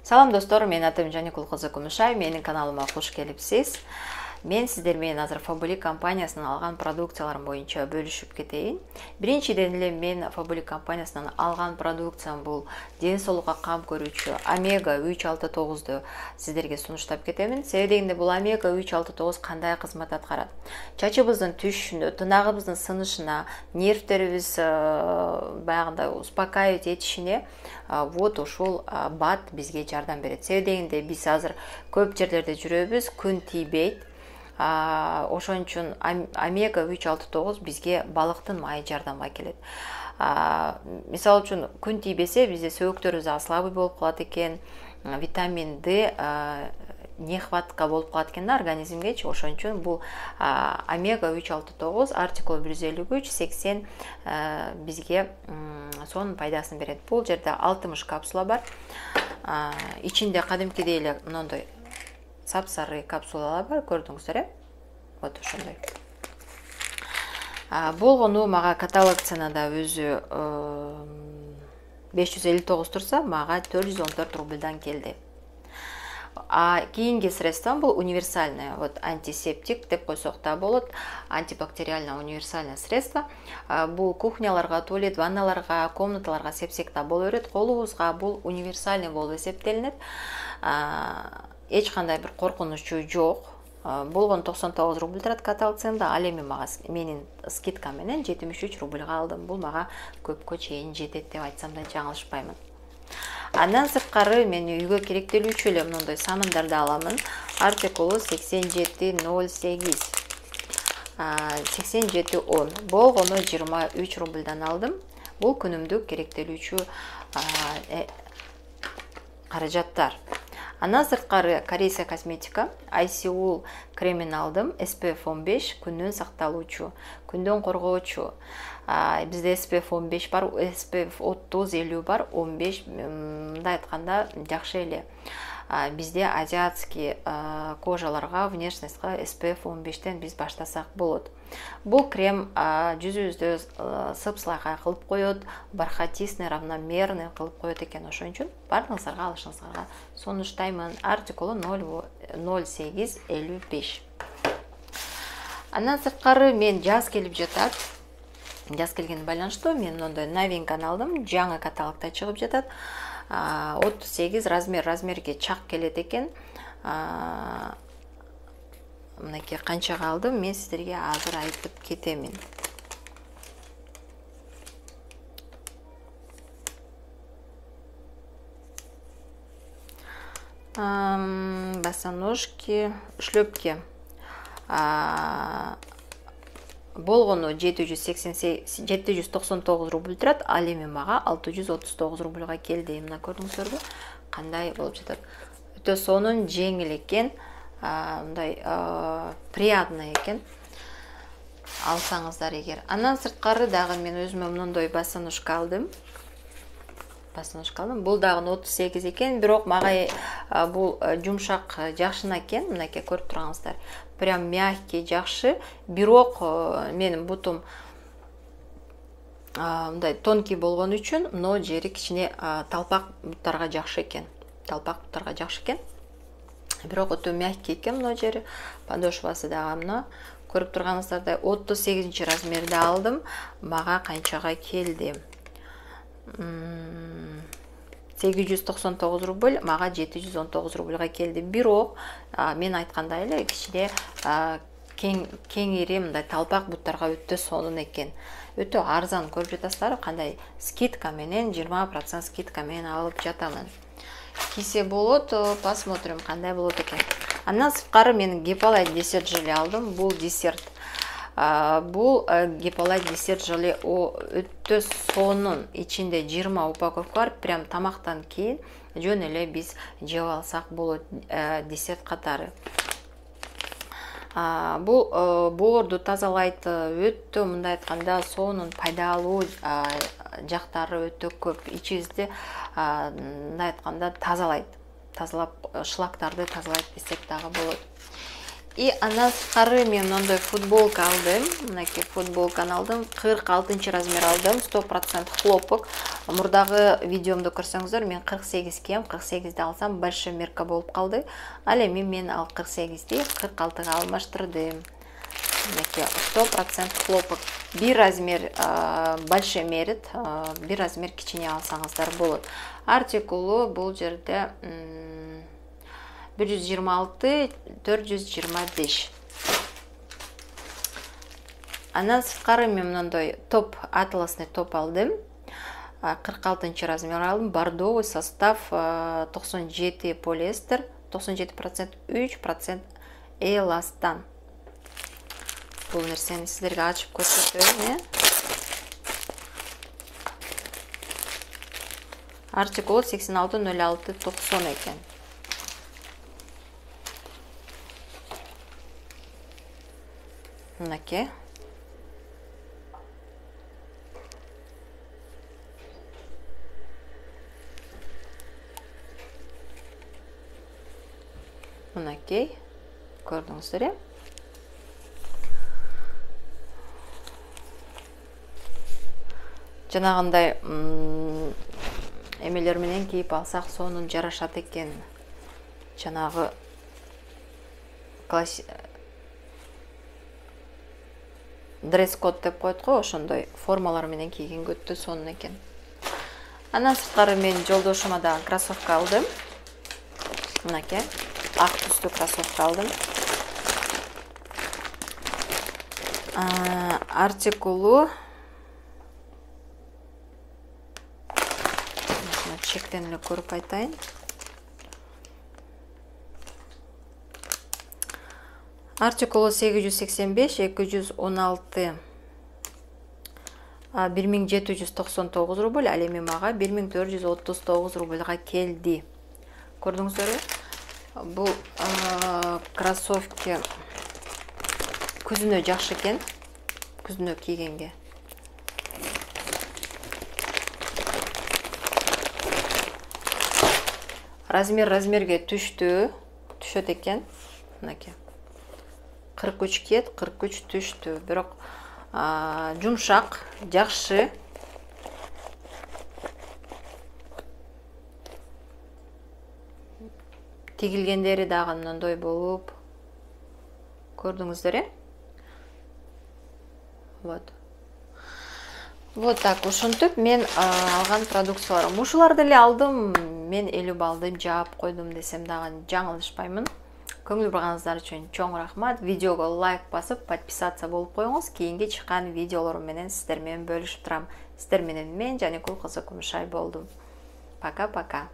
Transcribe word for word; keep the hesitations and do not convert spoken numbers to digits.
Салам достор, мен атым Жаникул кызы Кумушай, менин каналыма кош келипсиз. Мен сиздер менен азыр Fabulik компаниясынан алган продукцияларым боюнча бөлүшүп кетейин. Биринчиден эле мен Fabulik компаниясынан алган продукциям бул ден соолукка кам көрүүчү омега үч алты тогузду сиздерге сунуштап кетемин. Себеби дегенде бул омега үч алты тогуз кандай кызмат аткарат? Чачыбыздын түшүшүнө, тынагыбыздын сынышына, нервтерибиз баягындай успокаивать этишине вот ушул бат бизге жардам берет. Себеби дегенде биз азыр көп жерлерде жүрөбүз, күн тийбейт. Ошон үчүн омега үч алты тогуз бизге балыктын майы жардамга келет. Мисалы үчүн күн тийбесе бизде сөөгүктөрүбүз слабый болуп калат экен, витамин D нехватка болуп калат экен организмгечи. Ошон үчүн бул омега үч алты тогуз артикул бир жүз элүү үч сексен бизге сонун пайдасын берет. Бул жерде алтымыш капсула бар. Ичинде кадимкидей эле мындай сапсары капсулалар бар, көрдүңүздөр, э? Вот ошондой. Болгону мага каталог ценада өзү беш жүз элүү тогуз турса, мага төрт жүз он төрт рубльдан келди. А кийинки средством бул универсальное, вот антисептик деп койсок да болот, антибактериальное универсальное средство. Бул кухняларга, туалет, ванналарга, комнаталарга сепсек да боло берет. Колубузга бул универсальный болуп эсептелинет. Эч кандай бир коркунучу жок. Болгон токсон тогуз рубль турат каталог ценада, ал эми мага менин скидка менен жетимиш үч рубльга алдым. Бул мага көпкө чейин жетет деп айтсам да жаңылышпаймын. Андан сырткары мен үйгө керектелүүчү эле мындай самындарды аламын. Артикулу сексен жети ноль сегиз сексен жети он. Болгону жыйырма үч рубльдан алдым. Бул күнүмдүк керектелүүчү каражаттар. Андан сырткары корейская косметика, Айсиул кремин алдым, эс пи эф он беш, күндөн сакталуучу, күндөн коргоочу. Бизде эс пи эф он беш бар, эс пи эф отуз элүү бар, он беш, мындай айтканда жакшы эле. Бизде азиатский кожаларга, внешностька эс пи эф он бештен биз баштасак болот. Бул крем жүзүбүздү сып-сылайкай кылып коет, бархатистый, равномерный кылып коет экен. Ошон үчүн баарыңыздарга алышыңыздарга сунуштаймын. Артикулу ноль сегиз элүү беш. Андан сырткары мен жаз келип жатат. Жаз келгени байланыштуу мен мындай новинканы алдым. Жаңы каталогда чыгып жатат. отуз сегиз размер, размерге чак келет экен. Мынакей канчага алдым, мен сиздерге азыр айтып кетемин. Босоножки, шлепки. Болгону жети жүз токсон тогуз рубль турат, ал эми мага алты жүз отуз тогуз рубльга келди. Мына көрдүңүздөрбү? Кандай болуп жатат? Өтө сонун, жеңил экен, мындай приятный экен. Алсаңыздар эгер. Андан сырткары дагы мен өзүмө мындай босоножка алдым. Босоножка алдым. Бул дагы отуз сегиз экен, бирок мага бул жумшак жакшына экен. Мынакей көрүп тургансыздар. Прям мягкий, жакшы. Бирок менин бутум мындай тонкий болгон үчүн мына жери кичине талпак буттарга жакшы экен. Талпак буттарга жакшы экен. Бирок өтө мягкий экен мына жери. Подошвасы дагы мына көрүп тургансыздардай отуз сегизинчи размерде алдым. Мага канчага келди? сегиз жүз токсон тогуз рубль, мага жети жүз он тогуз рубльга келди. Бирок мен айткандай эле кичине кеңири мындай талпак буттарга өтө сонун экен. Өтө арзан, көрүп жатасыздар, кандай скидка менен, жыйырма процент скидка менен алып жатамын. Кийсе болот, посмотрим кандай болот экен. Андан сырткары мен Гиполайт десерт желе алдым. Бул десерт. Бул Гиполайт десерт желе өтө сонун. Ичинде жыйырма упаковка бар. Прям тамактан кийин жөн эле биз жеп алсак болот десерт катары. Бул боорду тазалайт, өтө мындай айтканда сонун пайдалуу жактары өтө көп. Ичибизди мындай айтканда тазалайт. Тазалап шлактарды тазалайт десек дагы болот. И андан сырткары мен мындай футболка алдым. Мынакей футболканы алдым. кырк алтынчы размер алдым. сто процент хлопок. Мурдагы видеомду көрсөңүздөр, мен кырк сегиз кийем, кырк сегизди алсам большой мерка болуп калды. Ал эми мен ал кырк сегизди кырк алтыга алмаштырдым. Мынакей сто процент хлопок. Бир размер большой мерит, бир размер кичине алсаңыздар болот. Артикулу бул жерде бир жүз жыйырма алты төрт жүз жыйырма беш. Андан сырткары мен мындай топ, атласный топ алдым. кырк алтынчы размер алдым. Бордовый состав токсон жети полиэстер, токсон жети процент үч процент эластан. Бул нерсени сиздерге ачып көрсөтөм. Артикул сексен алты нөл алты токсон экен. Мынакей. Мынакей. Көрдүңүздөр, э? Жанагындай эмелер менен кийип алсак, сонун жарашат экен. Жанагы класс дресс-код деп коет го, ошондой формалар менен кийгенге өтө сонун экен. Андан сырткары мен жолдошума да кроссовка алдым. Мынакей, ак түстүү кроссовка алдым. Артикулу чектен эле көрүп айтайын. Артикулу сегиз жүз сексен беш эки жүз он алты бир миң жети жүз токсон тогуз рубль, ал эми мага бир миң төрт жүз отуз тогуз рубльга келди. Көрдүңүздөрбү? Бул кроссовки күзүнө жакшы экен, күзүнө кийгенге. Размер размерге түштү, түшөт экен. Мынакей. кырк үч кет, кырк үч түштү. Бирок жумшак, жакшы. Тигилгендери дагы мындай болуп. Көрдүңүздөр, э? Вот. Вот так, ушинтип мен алган продукцияларым. Ушуларды эле алдым. Мен элүү балды жаап койдум десем дагы жаңылышпаймын. Көңүл бурганыңыздар үчүн чоң рахмат. Видеого лайк басып, подписаться болуп коюңуз. Кийинки чыккан видеолорум менен сиздер менен бөлүшүп турам. Сиздер менен мен Жаникул кызы Кумушай болдум. Пока-пока.